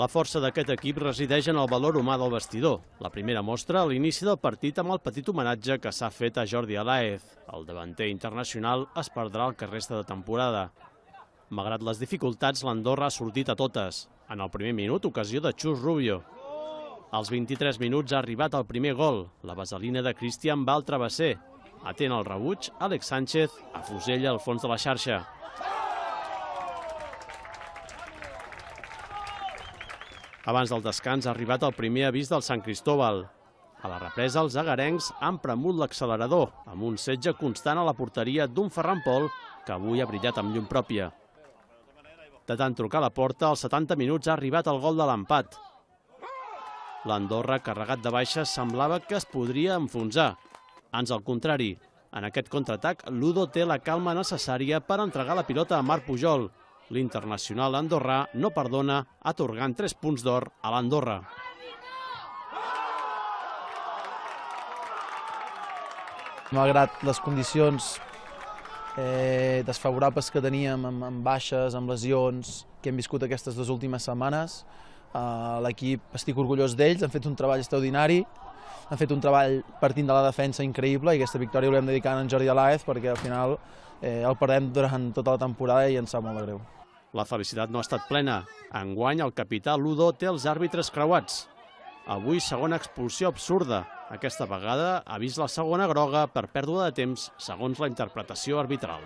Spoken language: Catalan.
La força d'aquest equip resideix en el valor humà del vestidor. La primera mostra a l'inici del partit amb el petit homenatge que s'ha fet a Jordi Aláez. El davanter internacional es perdrà el que resta de temporada. Malgrat les dificultats, l'Andorra ha sortit a totes. En el primer minut, ocasió de Chus Rubio. Als 23 minuts ha arribat el primer gol. La vaselina de Cristian va al travesser. Atent al rebuig, Àlex Sánchez afusella al fons de la xarxa. Abans del descans ha arribat el primer avís del Sant Cristóbal. A la represa, els agarencs han premut l'accelerador, amb un setge constant a la porteria d'un Ferran Pol que avui ha brillat amb llum pròpia. De tant trucar a la porta, als 70 minuts ha arribat el gol de l'empat. L'Andorra, carregat de baixes, semblava que es podria enfonsar. Ans al contrari, en aquest contraatac, Ludo té la calma necessària per entregar la pilota a Marc Pujol. L'internacional andorrà no perdona, atorgant 3 punts d'or a l'Andorra. Malgrat les condicions desfavorables que teníem, amb baixes, amb lesions, que hem viscut aquestes 2 últimes setmanes, l'equip, estic orgullós d'ells, han fet un treball extraordinari, han fet un treball partint de la defensa increïble i aquesta victòria l'hem dedicat a en Jordi Aláez perquè al final el perdem durant tota la temporada i ens sap molt de greu. La felicitat no ha estat plena. Enguany el capità Ludo té els àrbitres creuats. Avui segona expulsió absurda. Aquesta vegada ha vist la segona groga per pèrdua de temps segons la interpretació arbitral.